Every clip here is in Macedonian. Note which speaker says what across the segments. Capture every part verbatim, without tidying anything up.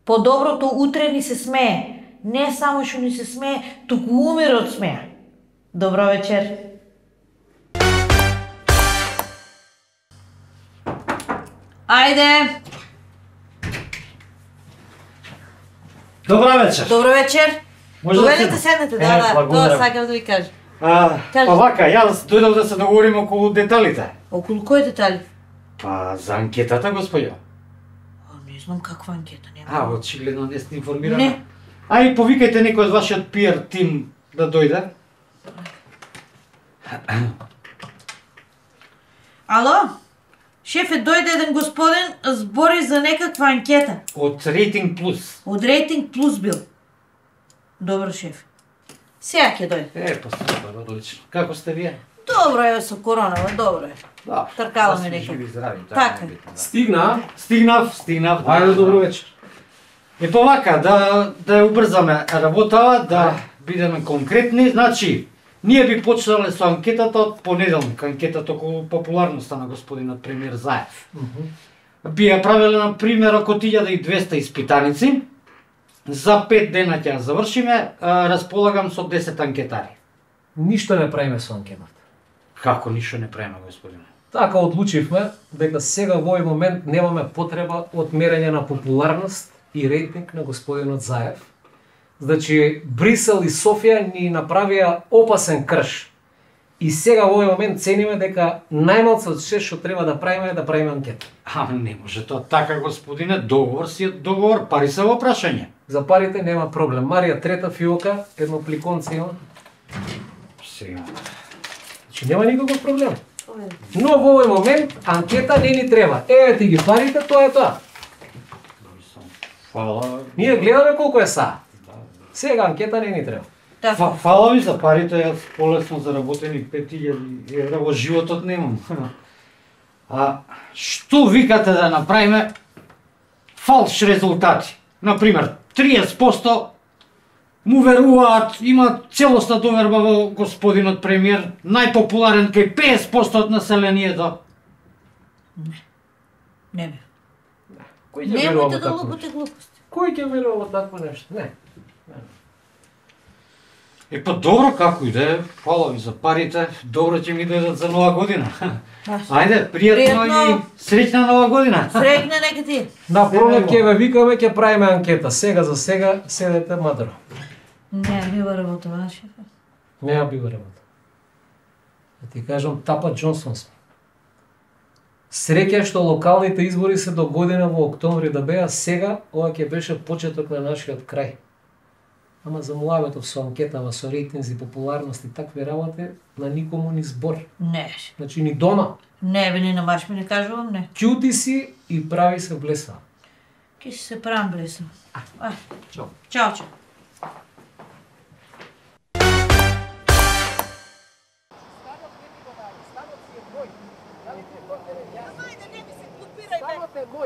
Speaker 1: По доброто утре ни се смее. Не само што ни се смее, туку умира од смеа. Добро вечер. Ајде.
Speaker 2: Добро вечер.
Speaker 1: Добро вечер.
Speaker 2: Може
Speaker 1: Доведете
Speaker 2: да
Speaker 1: седнете,
Speaker 2: Е,
Speaker 1: да, да.
Speaker 2: благодарам.
Speaker 1: Тоа сакам да ви кажам.
Speaker 2: А,
Speaker 1: Кажи.
Speaker 2: па вака, јас дојдов да се договорим околу деталите.
Speaker 1: Околу кои детали?
Speaker 2: Па за анкетата, господјо.
Speaker 1: А, не знам каква анкета, нема.
Speaker 2: А, очигледно не сте информирани.
Speaker 1: Не.
Speaker 2: Ај повикајте некој од вашиот пи ар тим да дојде.
Speaker 1: Ало? Шефе, дојде еден господин, збори за некаква анкета.
Speaker 2: Од Рейтинг Плюс.
Speaker 1: Од Рейтинг Плюс бил. Добро, шеф. Сега ќе дојде.
Speaker 2: Е, па супер, одлично. Како сте вие?
Speaker 1: Добро е со коронава, добро е.
Speaker 2: Да.
Speaker 1: Тркаламе
Speaker 2: да сме
Speaker 1: некако.
Speaker 2: живи и здрави, тоа
Speaker 1: Така.
Speaker 2: е битно, да.
Speaker 3: Стигна.
Speaker 2: Стигнав, стигнав.
Speaker 3: Ајде, добро вечер.
Speaker 2: Е па вака, да да ја убрзаме работава, да бидеме конкретни, значи ние би почнале со анкетата од понеделник, анкетата околу популарноста на господинот премиер Заев. Би ја правеле на пример околу илјада и двесте испитаници. За пет дена ќе ја завршиме, а, располагам со десет анкетари.
Speaker 3: Ништо не правиме со анкетата.
Speaker 2: Како ништо не правиме, господине?
Speaker 3: Така одлучивме дека сега во овој момент немаме потреба од мерење на популарност и рейтинг на господинот Заев. Значи, Брисел и Софија ни направија опасен крш. И сега во овој момент цениме дека најмалку од се што треба да правиме е да правиме анкета.
Speaker 2: А, не може тоа така, господине, договор си е договор, пари се во прашање.
Speaker 3: За парите нема проблем. Марија трета фиока, едно пликонце има.
Speaker 2: Сега.
Speaker 3: Значи нема никаков проблем. Но во овој момент анкета не ни треба. Еве ти ги парите, тоа е тоа.
Speaker 2: Фала.
Speaker 3: Ние гледаме колку е са. Сега анкета не ни треба.
Speaker 1: Така.
Speaker 2: Фа, фала ви за парите, јас полесно заработени пет илјади евра во животот немам. А што викате да направиме фалш резултати? Например, триесет проценти му веруваат, има целосна доверба во господинот премиер, најпопуларен кај петдесет проценти од населението.
Speaker 1: Не бе.
Speaker 3: Кој ќе верува
Speaker 1: Немојте
Speaker 3: во
Speaker 1: да
Speaker 3: такво
Speaker 1: лупате
Speaker 3: нешто?
Speaker 1: глупости.
Speaker 3: Кој ќе верува во такво нешто? Не.
Speaker 2: Е па добро, како и да е, фала ви за парите, добро ќе ми дојдат за нова година. Ајде, пријатно и
Speaker 1: Пријатно.
Speaker 2: среќна нова година.
Speaker 1: Среќна нека ти.
Speaker 3: На пролет ќе ве викаме, ќе правиме анкета. Сега за сега седете мадро.
Speaker 1: Не, бива работа, шефе.
Speaker 3: Не ја бива работа. Да ти кажам, Тапа Џонсон сме. Среќа што локалните избори се до година во октомври да беа, сега ова ќе беше почеток на нашиот крај. Ама за муабетов со анкетава, со рейтинзи, популарност и такви работи, на никому ни збор.
Speaker 1: Не,
Speaker 3: Значи ни дома.
Speaker 1: не бе, ни на баш ми не кажувам, не.
Speaker 3: Ќути си и прави се блеса.
Speaker 1: Ке си се правам блесна. А,
Speaker 3: Чао.
Speaker 1: чао, чао.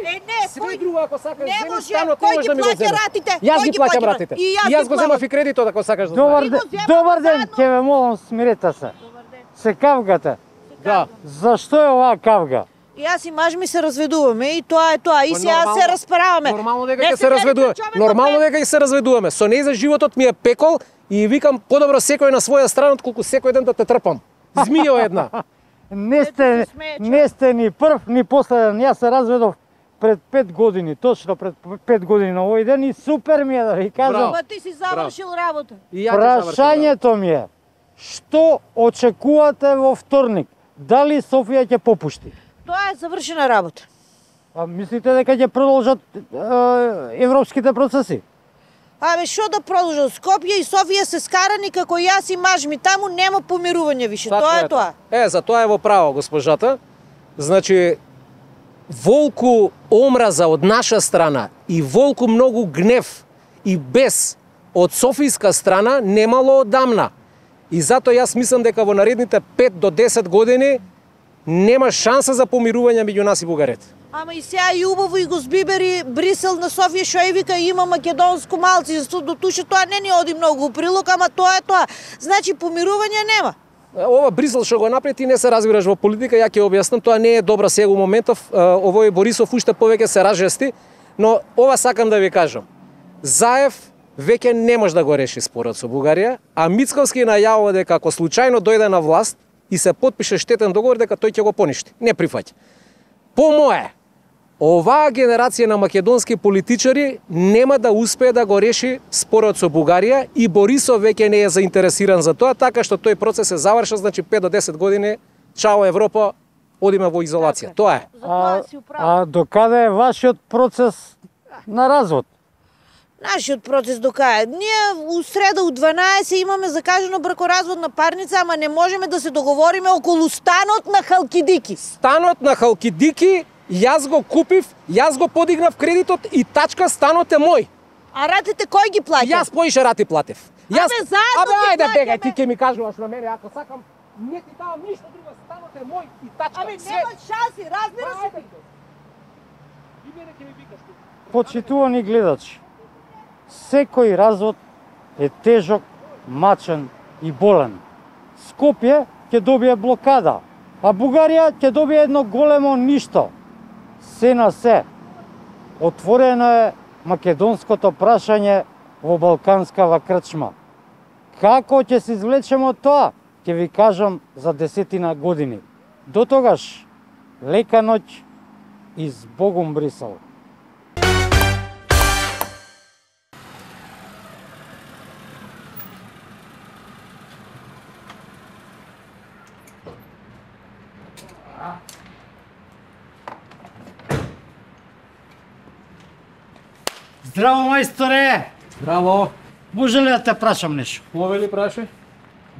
Speaker 4: Е, не,
Speaker 5: Све
Speaker 4: кој...
Speaker 5: друго ако сакаш
Speaker 4: Не
Speaker 5: земеш,
Speaker 4: може,
Speaker 5: станот
Speaker 4: кој
Speaker 5: не може
Speaker 4: ги
Speaker 5: да ми го
Speaker 4: плаќа
Speaker 5: земеш.
Speaker 4: ратите?
Speaker 5: Јас
Speaker 4: Кој
Speaker 5: ги
Speaker 4: ги
Speaker 5: плаќам
Speaker 4: плаќа?
Speaker 5: ратите.
Speaker 4: И јас
Speaker 5: И јас
Speaker 4: ги
Speaker 5: го земав
Speaker 4: плаќам.
Speaker 5: и кредитот ако сакаш да
Speaker 6: Добар
Speaker 5: знаеш.
Speaker 6: ден,
Speaker 4: земаме
Speaker 6: добар ден,
Speaker 4: заедно.
Speaker 6: ќе ве молам смирете се. Се кавгате.
Speaker 5: Да.
Speaker 6: Зашто е оваа кавга?
Speaker 4: И јас и маж ми се разведуваме и тоа е тоа. И
Speaker 5: Па
Speaker 4: сега
Speaker 5: нормално-
Speaker 4: се расправаме.
Speaker 5: Нормално дека
Speaker 4: Не
Speaker 5: ќе
Speaker 4: се
Speaker 5: се разведуваме.
Speaker 4: пречуваме
Speaker 5: Нормално
Speaker 4: кога
Speaker 5: дека ќе се разведуваме. Со неј за животот ми е пекол и викам подобро секој на своја страна отколку секој ден да те трпам. Змија една.
Speaker 6: Не сте,
Speaker 4: се смее, човек.
Speaker 6: не сте ни прв, ни последен. Јас се разведов пред пет години, точно пред пет години на овој ден и супер ми е да ви кажам.
Speaker 4: Па ти си завршил работа.
Speaker 5: И ја ќе завршам.
Speaker 6: Прашањето ми е, што очекувате во вторник? Дали Софија ќе попушти?
Speaker 4: Тоа е завршена работа.
Speaker 6: А мислите дека ќе продолжат е, европските процеси?
Speaker 4: Абе, што да продолжат? Скопје и Софија се скарани како јас и маж ми. Таму нема помирување више.
Speaker 5: Така
Speaker 4: Тоа е тоа.
Speaker 5: Е, за тоа е во право госпожата. Значи волку омраза од наша страна и волку многу гнев и бес од софијска страна немало одамна. И затоа јас мислам дека во наредните пет до десет години нема шанса за помирување меѓу нас и бугарите.
Speaker 4: Ама и сега и убаво и го збибери Брисел на Софија што и вика има македонско малци, до туше тоа не ни оди многу у прилог, ама тоа е тоа. Значи помирување нема.
Speaker 5: Ова Брисел што го направи, ти не се разбираш во политика, ја ќе објаснам, тоа не е добра сега у моментов, овој Борисов уште повеќе се разжести, Но ова сакам да ви кажам. Заев веќе не може да го реши спорот со Бугарија, а Мицковски најавува дека ако случајно дојде на власт и се потпише штетен договор, дека тој ќе го поништи. Не прифаќа. По мое, оваа генерација на македонски политичари нема да успее да го реши спорот со Бугарија и Борисов веќе не е заинтересиран за тоа, така што тој процес се завршил, значи пет до десет години, чао Европа, одиме во изолација. Тоа е.
Speaker 6: А, а докаде е вашиот процес на развод?
Speaker 4: Нашиот процес докаде. Ние у среда у дванаесет имаме закажено бракоразводна парница, ама не можеме да се договориме околу станот на Халкидики.
Speaker 5: Станот на Халкидики јас го купив, јас го подигнав кредитот и тачка станот е мој.
Speaker 4: А ратите кој ги плаќа?
Speaker 5: Јас поише рати платев. Јас...
Speaker 4: Абе, заедно
Speaker 5: Абе,
Speaker 4: ги
Speaker 5: ајде
Speaker 4: плаќаме.
Speaker 5: бегај, ти ќе ми кажуваш на мене, ако сакам, не ти давам ништо друго, станот е мој и тачка.
Speaker 4: Ами
Speaker 5: Све.
Speaker 4: нема шанси, разбира се.
Speaker 5: Ајде. И мене ќе ми викаш ти.
Speaker 6: Почитувани гледачи, секој развод е тежок, мачен и болен. Скопје ќе добие блокада, а Бугарија ќе добие едно големо ништо. Се на се, отворено е македонското прашање во Балканскава крчма. Како ќе се извлечеме од тоа, ќе ви кажам за десетина години. До тогаш, лека ноќ и с Богом Брисел.
Speaker 2: Здраво, мајсторе!
Speaker 3: Браво.
Speaker 2: Може ли да те прашам нешто?
Speaker 3: Повели праше?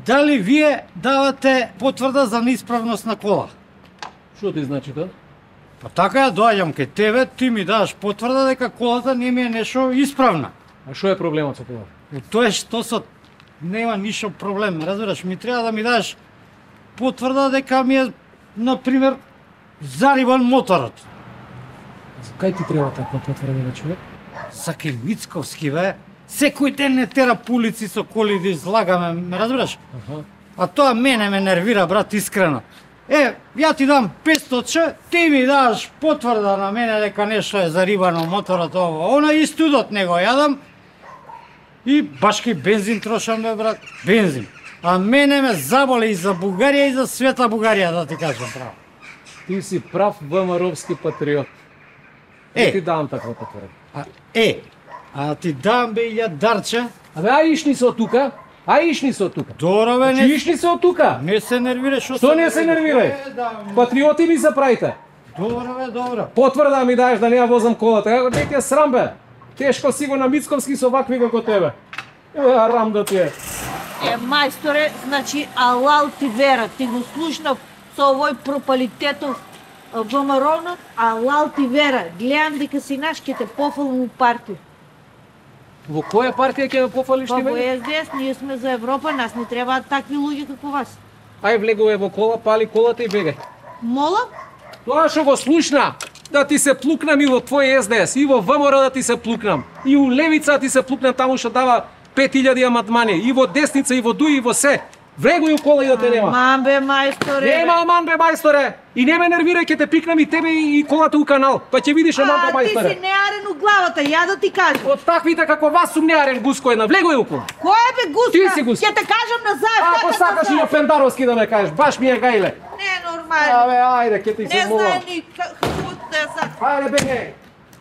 Speaker 2: Дали вие давате потврда за неисправност на кола?
Speaker 3: Што ти значи тоа?
Speaker 2: Па така ја доаѓам кај тебе, ти ми даваш потврда дека колата не ми е нешто исправна.
Speaker 3: А што е проблемот со тоа?
Speaker 2: Е, тоа е што со нема ништо проблем, разбираш, ми треба да ми даш потврда дека ми е, например, зарибан моторот.
Speaker 3: Кај ти треба таква потврда на човек?
Speaker 2: Сакај Мицковски, бе. Секој ден не тера по улици со коли да излагаме, ме разбираш?
Speaker 3: Аха.
Speaker 2: А тоа мене ме нервира, брат, искрено. Е, ја ти дам петстотин че, ти ми даш потврда на мене дека нешто е зарибано моторот ово. Она и студот не го јадам. И башки бензин трошам, бе, брат. Бензин. А мене ме заболи и за Бугарија и за света Бугарија, да ти кажам право.
Speaker 3: Ти си прав ВМРО-вски патриот.
Speaker 2: Е.
Speaker 3: Не ти давам таква потврда.
Speaker 2: А, е, а ти дам, бе, илја дарче.
Speaker 3: Абе, ај ишни се од тука. Ај ишни се од тука.
Speaker 2: Добро, бе,
Speaker 3: Чи
Speaker 2: не,
Speaker 3: ишни се од тука.
Speaker 2: не се нервираш.
Speaker 3: Што не се нервирај?
Speaker 2: Е, да,
Speaker 3: Патриоти ми се правите.
Speaker 2: добро, бе, добро.
Speaker 3: Потврда ми даеш да не ја возам колата. Како не ти е срам, бе. Тешко си го на Мицковски со вакви како тебе. Е, рам да ти е.
Speaker 4: Е, мајсторе, значи, алал ти вера, ти го слушнав со овој пропалитетов ВМРО-нот, алал ти вера. Гледам дека си наш, ке те пофалам у партија.
Speaker 3: Во која партија ќе ме пофалиш
Speaker 4: Па
Speaker 3: ти
Speaker 4: во
Speaker 3: мене?
Speaker 4: С Д С ние сме за Европа, нас не требаат такви луѓе како вас.
Speaker 3: Ај влегуве во кола, пали колата и бегај.
Speaker 4: Мола?
Speaker 3: Тоа што го слушна, да ти се плукнам и во твој С Д С, и во В М Р да ти се плукнам, и у Левица да ти се плукнам таму што дава пет илјади амандмани, и во десница, и во Д У, и во се. Влегуј у кола и да те нема.
Speaker 4: Ман бе, мајсторе.
Speaker 3: Нема аман бе мајсторе. И не ме нервирај, ќе те пикнам и тебе и колата у канал. Па ќе видиш аман бе
Speaker 4: А, ти си
Speaker 3: мајсторе.
Speaker 4: неарен у главата, ја да ти кажам.
Speaker 3: Од таквите како вас сум неарен гуско една. Влегуј у кола.
Speaker 4: Кој е бе гуска?
Speaker 3: Ти си гуска.
Speaker 4: Ќе те кажам назад.
Speaker 3: Ако
Speaker 4: како
Speaker 3: сакаш и
Speaker 4: назад.
Speaker 3: на Пендаровски да ме кажеш, баш ми е гајле.
Speaker 4: Не е нормално.
Speaker 3: Абе, ајде, ќе ти
Speaker 4: Не
Speaker 3: се
Speaker 4: знае
Speaker 3: молам.
Speaker 4: ни како да е сак.
Speaker 3: Ајде, бегај.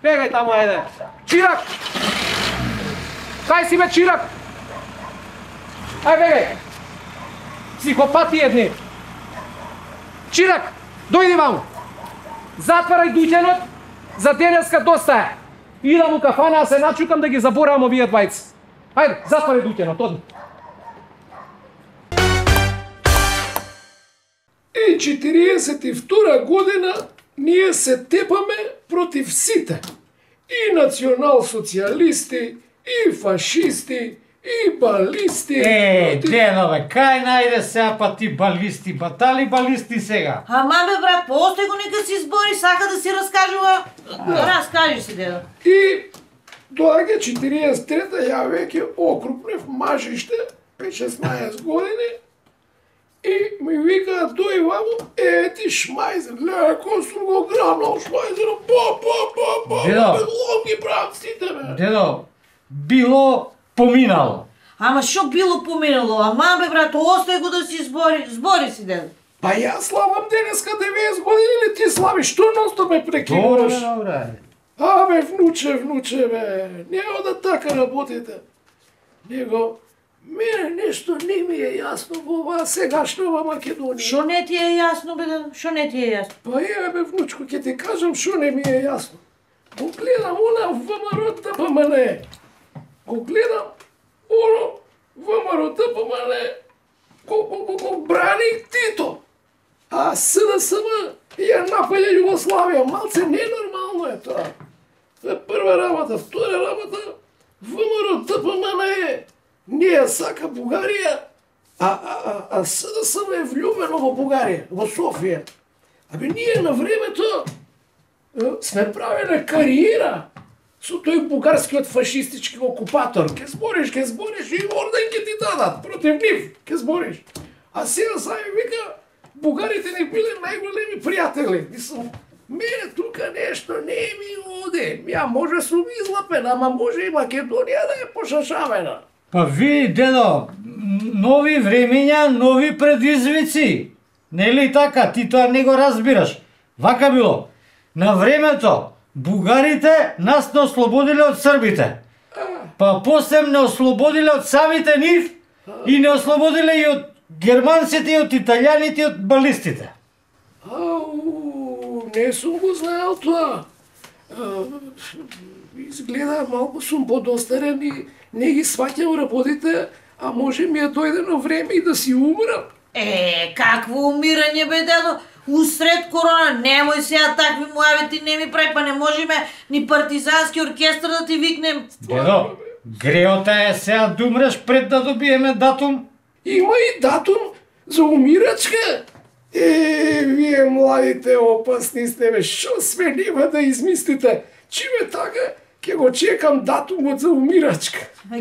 Speaker 3: Бегај таму, ајде. Чирак! Кај си бе, Чирак? Ај, бегај. Психопати едни. Чирак, дојди ваму. Затварај дуќанот, за денеска доста е. Идам у кафана, а се начукам да ги заборавам овие двајца. Ајде, затварај дуќанот, одни.
Speaker 7: И четириесет и втора година ние се тепаме против сите. И национал-социјалисти, и фашисти, и балисти.
Speaker 2: Е,
Speaker 7: против-
Speaker 2: дено, бе, кај најде сега па ти балисти, батали балисти сега?
Speaker 4: Ама бе, брат, постои го нека си збори, сака да си раскажува. Раскажи си, дедо.
Speaker 7: И доаѓа четириесет и трета, ја веќе окрупнев мажиште, пет шеснаесет години, И ми вика, дој вамо, е, ти шмајзер, гледа, кој сум го грабнал шмајзера, па, па, па, па,
Speaker 2: Дедо.
Speaker 7: лом ги правам сите, бе.
Speaker 2: Дедо, било поминало.
Speaker 1: Ама шо било поминало? Ама бе брато, остај го да си збори, збори си дедо.
Speaker 7: Па јас славам денеска деветдесет години или ти славиш, што носто ме прекинуваш?
Speaker 2: добре.
Speaker 7: Абе, внуче, внуче, бе, нема да така работите. Него, мене нешто не ми е јасно во оваа сегашнава Македонија.
Speaker 1: Шо не ти е јасно бе дедо? Шо не ти е јасно?
Speaker 7: Па еве бе, внучко, ќе ти кажам шо не ми е јасно. Го гледам она ВМРО ТПМН. Го гледам оно ВМРО ТПМН. Го, го, го, го брани Тито. А СДСМ ја напаѓа Југославија. Малце ненормално е тоа. Това е прва работа. Втора работа, ВМРО ТПМН е не ја сака Бугарија, а, а, а, а СДСМ е влюбено во Бугарија, во Софија. Абе, ние на времето е, сме правеле кариера со тој бугарскиот фашистички окупатор. Ке збориш, ке збориш и орден ке ти дадат против нив. Ке збориш. А сега сами вика, бугарите ни биле најголеми пријатели. Мислам, мене тука нешто не ми оде. Ја може сум излапен, ама може и Македонија да е пошашавена.
Speaker 2: Па ви, дедо, нови времења, нови предизвици. Нели така? Ти тоа не го разбираш. Вака било. На времето, бугарите нас не ослободиле од србите. Па после не ослободиле од самите нив и не ослободиле и од германците, и од италијаните, и од балистите.
Speaker 7: Ау, не сум го знаел тоа. А, изгледа малку сум подостарен и не ги сваќам работите, а може ми е дојдено време и да си умрам.
Speaker 1: Е, какво умирање бе дедо? Усред корона, немој сега такви муавети не ми прави, па не можеме ни партизански оркестар да ти викнем.
Speaker 2: Дедо, греота е сега да умреш пред да добиеме датум.
Speaker 7: Има и датум за умирачка. Е, вие младите опасни сте, бе, шо све нема да измислите? Чиме така, ќе го чекам датумот за умирачка.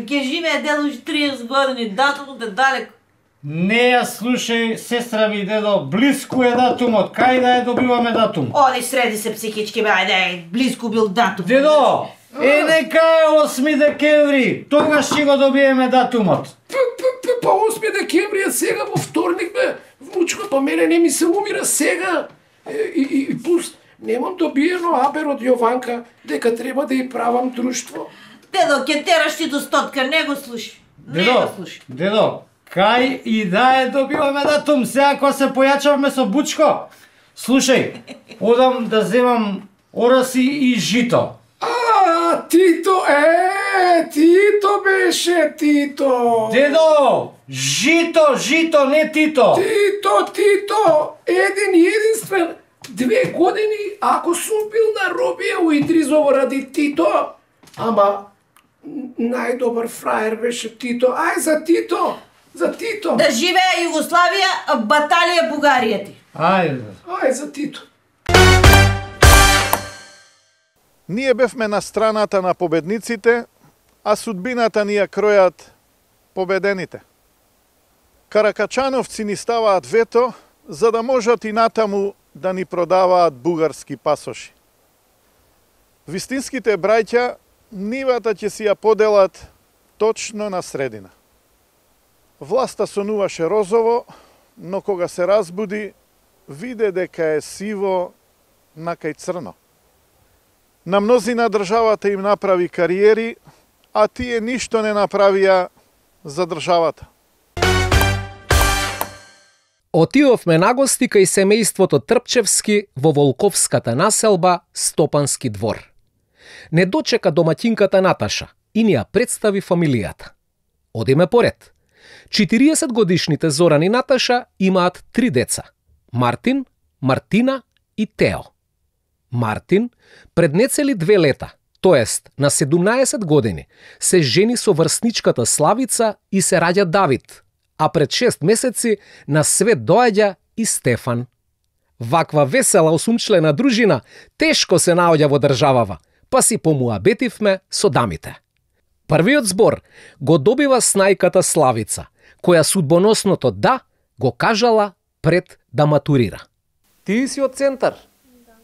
Speaker 1: Ке живее дедо уште триесет години, датумот е далеко.
Speaker 2: Не ја слушај, сестра ми, дедо, близко е датумот, кај да ја добиваме датум?
Speaker 1: Оди среди се психички бе, ајде, близко бил датум.
Speaker 2: Дедо, е нека е осми декември, тогаш ќе го добиеме датумот.
Speaker 7: П, п, п, па осми декември е сега во вторник, бе. Внучко, па мене не ми се умира сега. Е, и, и, и плюс, немам добиено абер од Јованка, дека треба да ја правам друштво.
Speaker 1: Дедо, ке тераш ти до стотка, не го слушай. Не
Speaker 2: Дедо,
Speaker 1: го слушай.
Speaker 2: дедо, кај и да е добиваме датум, сега кога се појачавме со Бучко. Слушај, одам да земам ороси и жито.
Speaker 7: А, Тито, е, Тито беше, Тито.
Speaker 2: Дедо, жито, жито, не Тито.
Speaker 7: Тито, Тито, еден и единствен. Две години, ако сум бил на робија у Идризово ради Тито, ама најдобар фраер беше Тито. Ај за Тито, за Тито.
Speaker 1: Да живее Југославија, баталија Бугарија ти.
Speaker 2: Ајде.
Speaker 7: Ај за Тито.
Speaker 8: Ние бевме на страната на победниците, а судбината ни ја кројат победените. Каракачановци ни ставаат вето, за да можат и натаму да ни продаваат бугарски пасоши. Вистинските браќа нивата ќе си ја поделат точно на средина. Власта сонуваше розово, но кога се разбуди, виде дека е сиво накај црно. На мнозина државата им направи кариери, а тие ништо не направија за државата.
Speaker 5: Отидовме на гости кај семејството Трпчевски во Волковската населба Стопански двор. Не дочека домаќинката Наташа и ни ја представи фамилијата. Одиме поред. четириесет годишните Зоран и Наташа имаат три деца – Мартин, Мартина и Тео. Мартин пред нецели две лета, тоест на седумнаесет години, се жени со врсничката Славица и се раѓа Давид, а пред шест месеци на свет доаѓа и Стефан. Ваква весела осумчлена дружина тешко се наоѓа во државава, па си помуабетивме со дамите. Првиот збор го добива снајката Славица, која судбоносното да го кажала пред да матурира. Ти си од Центар? Да.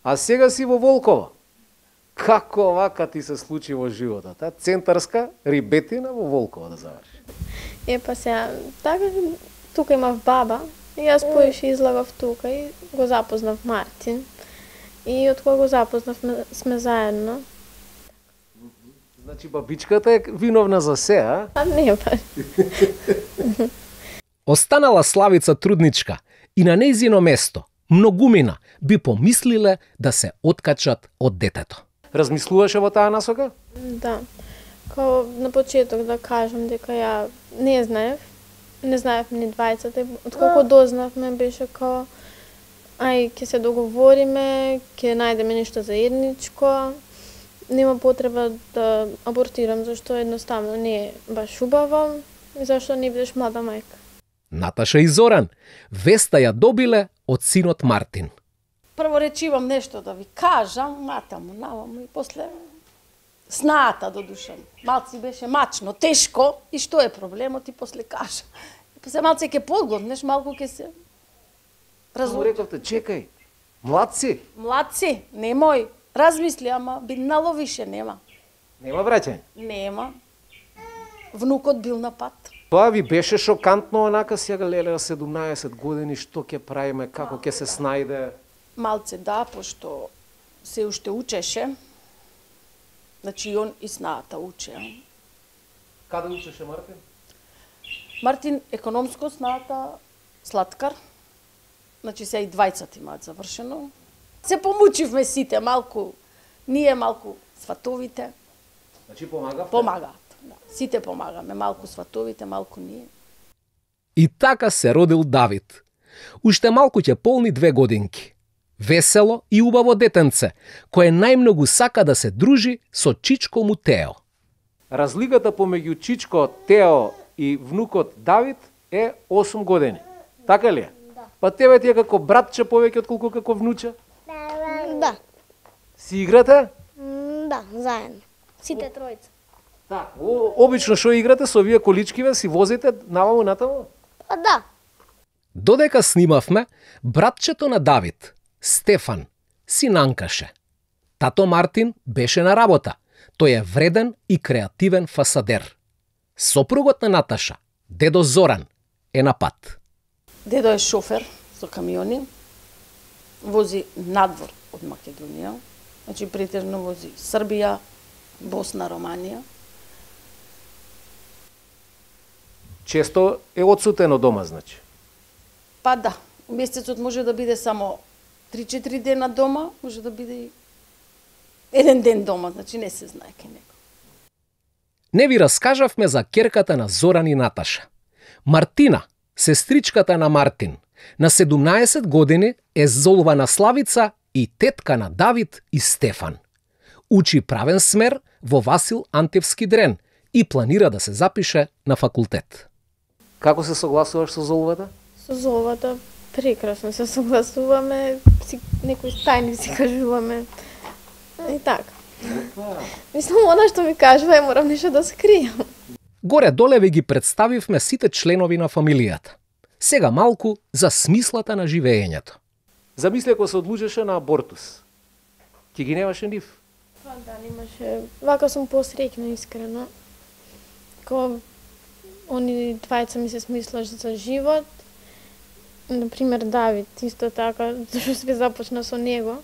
Speaker 5: А сега си во Волково. Како вака ти се случи во животот, а? Центарска рибетина во Волково да заврши.
Speaker 9: Е, па сега, така, тука имав баба, и јас поише излагав тука и го запознав Мартин. И од кога го запознав сме заедно.
Speaker 5: Значи бабичката е виновна за се, а?
Speaker 9: А не, па.
Speaker 5: Останала Славица трудничка и на нејзино место многумина би помислиле да се откачат од детето. Размислуваше во таа насока?
Speaker 9: Да. Као на почеток да кажам дека ја не знаев, не знаев ни двајцата, откако дознавме беше као ај ќе се договориме, ќе најдеме нешто заедничко, нема потреба да абортирам зашто едноставно не е баш убаво и зашто не бидеш млада мајка.
Speaker 5: Наташа и Зоран веста ја добиле од синот Мартин.
Speaker 10: Прво речивам нешто да ви кажам, натаму, наваму и после снаата до душа. Малци беше мачно, тешко и што е проблемот и после кажа. И после малце ќе подготнеш, малку ќе се
Speaker 5: Само рековте, чекај, младци.
Speaker 10: Младци, немој, размисли, ама биднало више нема.
Speaker 5: Нема враќање?
Speaker 10: Нема. Внукот бил на пат.
Speaker 5: Тоа ви беше шокантно, онака сега леле седумнаесет години, што ќе правиме, како ќе се снајде?
Speaker 10: Малце да, пошто се уште учеше. Значи, он и снаата уче.
Speaker 5: Каде учеше Мартин?
Speaker 10: Мартин економско, снаата слаткар. Значи, се и двајцата имаат завршено. Се помучивме сите, малку, ние малку сватовите.
Speaker 5: Значи, помагавте?
Speaker 10: Помагаат. Да. Сите помагаме, малку сватовите, малку ние.
Speaker 5: И така се родил Давид. Уште малку ќе полни две годинки. Весело и убаво детенце, кое најмногу сака да се дружи со чичко му Тео. Разликата помеѓу чичко Тео и внукот Давид е осум години. Така ли е?
Speaker 11: Да.
Speaker 5: Па тебе ти е како братче повеќе отколку како внуче?
Speaker 11: Да.
Speaker 5: Си играте?
Speaker 11: Да, заедно. Сите тројца.
Speaker 5: Да. О, обично што играте со овие количкиве, си возите наваму натаму?
Speaker 11: Па да.
Speaker 5: Додека снимавме, братчето на Давид, Стефан, си нанкаше. Тато Мартин беше на работа. Тој е вреден и креативен фасадер. Сопругот на Наташа, дедо Зоран, е на пат.
Speaker 10: Дедо е шофер со камиони, вози надвор од Македонија, значи претежно вози Србија, Босна, Романија.
Speaker 5: Често е одсутен од дома, значи?
Speaker 10: Па да, месецот може да биде само три-четири дена дома, може да биде и еден ден дома, значи не се знае ке него.
Speaker 5: Не ви раскажавме за керката на Зоран и Наташа. Мартина, сестричката на Мартин, на седумнаесет години е золвана Славица и тетка на Давид и Стефан. Учи правен смер во Васил Антевски дрен и планира да се запише на факултет. Како се согласуваш со золвата?
Speaker 9: Со золвата прекрасно се согласуваме, си, некои тајни си кажуваме. И така. Мислам, она што ми кажува, е морам нешто да скријам.
Speaker 5: Горе-доле ви ги представивме сите членови на фамилијата. Сега малку за смислата на живеењето. Замисли ако се одлучеше на абортус. Ти ги немаше нив?
Speaker 9: Па да, немаше. Вака сум посреќна, искрено. Ко они двајца ми се смислаш за живот. Например, Давид, исто така, зашто све започна со него.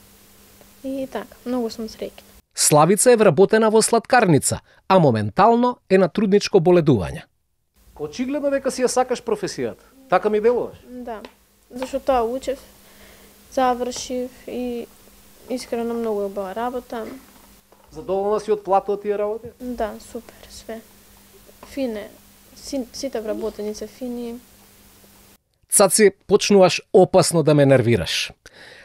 Speaker 9: И така, многу сум среќна.
Speaker 5: Славица е вработена во сладкарница, а моментално е на трудничко боледување. Очигледно дека си ја сакаш професијата. Така ми делуваш?
Speaker 9: Да, зашто тоа учев, завршив и искрено многу е убава работа.
Speaker 5: Задоволна си од плата од тие работи?
Speaker 9: Да, супер, све. Фине, си, сите вработеници фини.
Speaker 5: Цаци, почнуваш опасно да ме нервираш.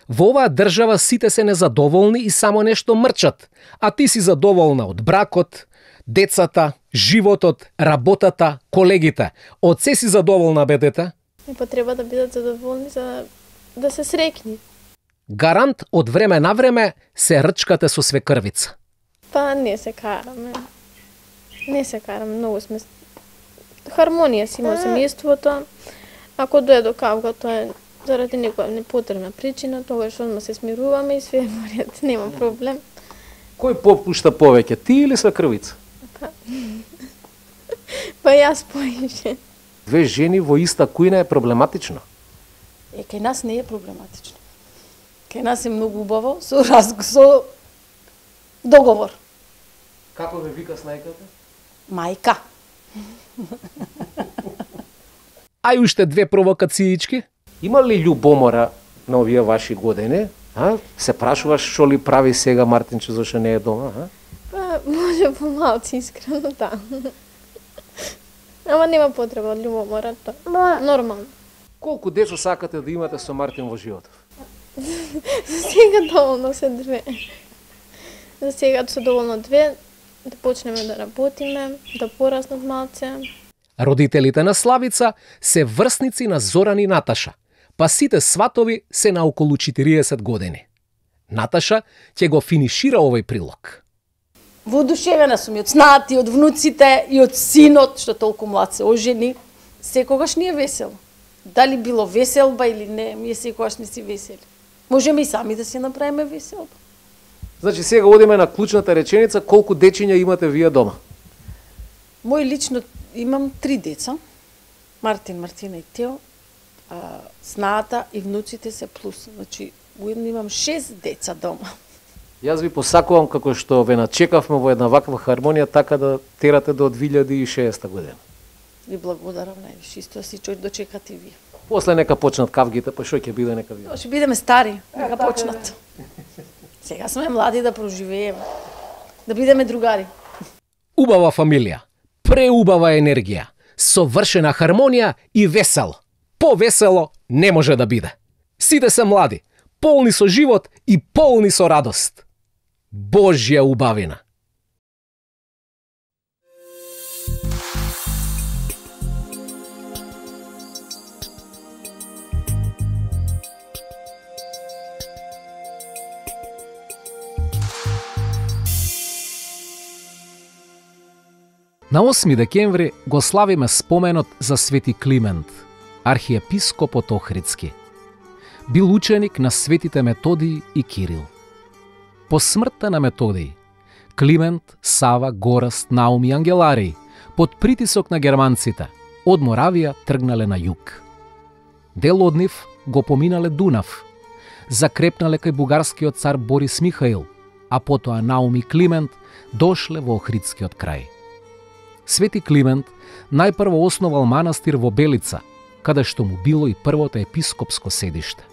Speaker 5: Во оваа држава сите се незадоволни и само нешто мрчат, а ти си задоволна од бракот, децата, животот, работата, колегите. Од се си задоволна, бе, дете?
Speaker 9: И па треба да бидат задоволни за да се среќни.
Speaker 5: Гарант од време на време се рчкате со свекрвица.
Speaker 9: Па не се караме. Не се караме, многу сме... Хармонија си има семејството. Ако дое до кавга, тоа е заради некоја непотребна причина, тогаш одма се смируваме и све е во ред, нема проблем.
Speaker 5: Кој попушта повеќе, ти или свекрвица?
Speaker 9: Па, па јас поише.
Speaker 5: Две жени во иста кујна е проблематично?
Speaker 10: Е, кај нас не е проблематично. Кај нас е многу убаво, со разговор, со договор.
Speaker 5: Како ве вика снајката?
Speaker 10: Мајка.
Speaker 5: А и уште две провокациички. Има ли љубомора на овие ваши години? А? Се прашуваш што ли прави сега Мартинче зашто не е дома, а?
Speaker 9: Па, може помалци искрено, да. Ама нема потреба од љубомора, тоа. Нормално.
Speaker 5: Колку децо сакате да имате со Мартин во животот?
Speaker 9: За сега доволно се две. За сега се доволно две, да почнеме да работиме, да пораснат малце.
Speaker 5: Родителите на Славица се врсници на Зоран и Наташа, па сите сватови се на околу четириесет години. Наташа ќе го финишира овој прилог.
Speaker 10: Воодушевена сум и од снати, од внуците и од синот, што толку млад се ожени. Секогаш ни е весело. Дали било веселба или не, ние секогаш сме си весели. Можеме и сами да си направиме веселба.
Speaker 5: Значи сега одиме на клучната реченица, колку дечиња имате вие дома?
Speaker 10: Мој лично имам три деца. Мартин, Мартина и Тео. А, снаата и внуците се плюс. Значи, уедно имам шест деца дома.
Speaker 5: Јас ви посакувам како што ве начекавме во една ваква хармонија, така да терате до две илјади и шеста година.
Speaker 10: Ви благодарам највише, исто си чој дочекате и вие.
Speaker 5: После нека почнат кавгите, па што ќе биде нека биде.
Speaker 10: Ќе бидеме стари, нека почнат. Сега сме млади да проживееме, да бидеме другари.
Speaker 5: Убава фамилија, преубава енергија, совршена хармонија и весело. Повесело не може да биде. Сите се млади, полни со живот и полни со радост. Божја убавина. На осми декември го славиме споменот за Свети Климент, архиепископот Охридски. Бил ученик на светите Методиј и Кирил. По смртта на Методиј, Климент, Сава, Гораст, Наум и Ангеларий, под притисок на германците, од Моравија тргнале на југ. Дел од нив го поминале Дунав, закрепнале кај бугарскиот цар Борис Михаил, а потоа Наум и Климент дошле во Охридскиот крај. Свети Климент најпрво основал манастир во Белица, каде што му било и првото епископско седиште.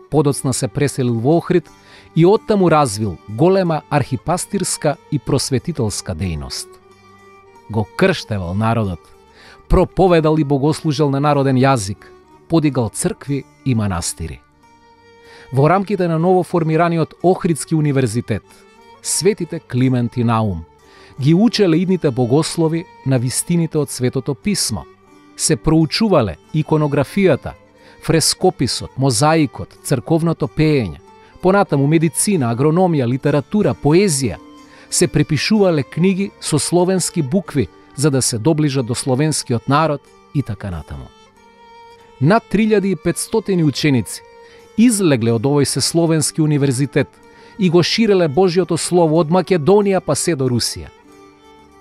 Speaker 5: Подоцна се преселил во Охрид и оттаму развил голема архипастирска и просветителска дејност. Го крштевал народот, проповедал и богослужел на народен јазик, подигал цркви и манастири. Во рамките на новоформираниот Охридски универзитет, светите Климент и Наум ги учеле идните богослови на вистините од Светото писмо, се проучувале иконографијата, фрескописот, мозаикот, црковното пеење, понатаму медицина, агрономија, литература, поезија, се препишувале книги со словенски букви за да се доближат до словенскиот народ и така натаму. Над три илјади и петстотини ученици излегле од овој сесловенски универзитет и го ширеле Божјото слово од Македонија па се до Русија.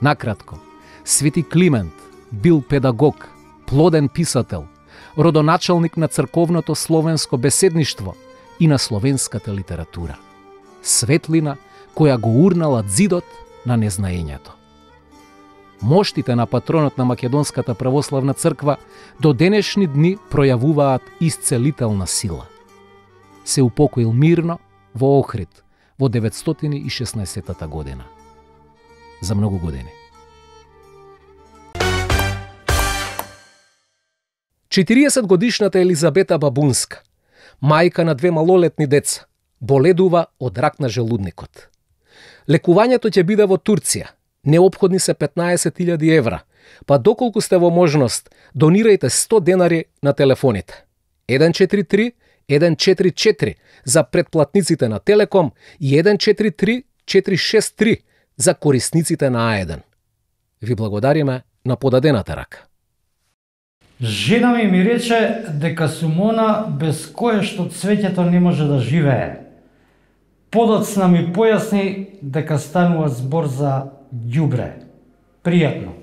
Speaker 5: Накратко, Свети Климент бил педагог, плоден писател, родоначалник на црковното словенско беседништво и на словенската литература. Светлина која го урнала ѕидот на незнаењето. Моштите на патронот на Македонската православна црква до денешни дни пројавуваат исцелителна сила. Се упокоил мирно во Охрид во деветстотини и шеснаесеттата година. За многу години. четириесет годишната Елизабета Бабунска, мајка на две малолетни деца, боледува од рак на желудникот. Лекувањето ќе биде во Турција. Неопходни се петнаесет илјади евра, па доколку сте во можност, донирајте сто денари на телефоните. еден четири три еден четири четири за претплатниците на Телеком и еден четири три четири шест три за корисниците на А еден. Ви благодариме на подадената рака.
Speaker 2: Жена ми ми рече дека сум она без кое што цвеќето не може да живее. Подоцна ми појасни дека станува збор за ѓубре. Пријатно.